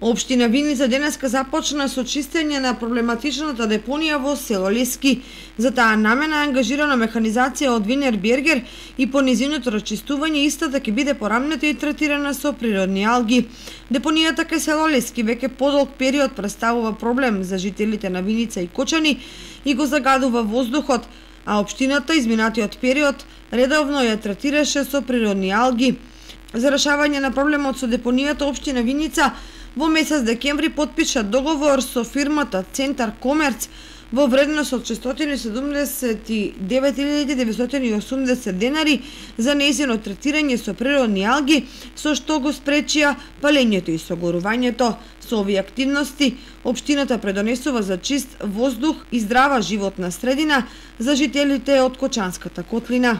Општина Виница денеска започна со чистење на проблематичната депонија во село Лески. За таа намена е ангажирана механизација од Винер Бергер и по нејзиното расчистување истата ќе биде порамнета и третирана со природни алги. Депонијата кај село Лески веќе подолг период представува проблем за жителите на Виница и Кочани и го загадува воздухот, а општината изминатиот период редовно ја третираше со природни алги. За решавање на проблемот со депонијата општина Виница во месец декември потпиша договор со фирмата Центар Комерц во вредност од 679.980 денари за нејзино третирање со природни алги, со што го спречија палењето и согорувањето. Со овие активности, општината предонесува за чист воздух и здрава животна средина за жителите од Кочанската котлина.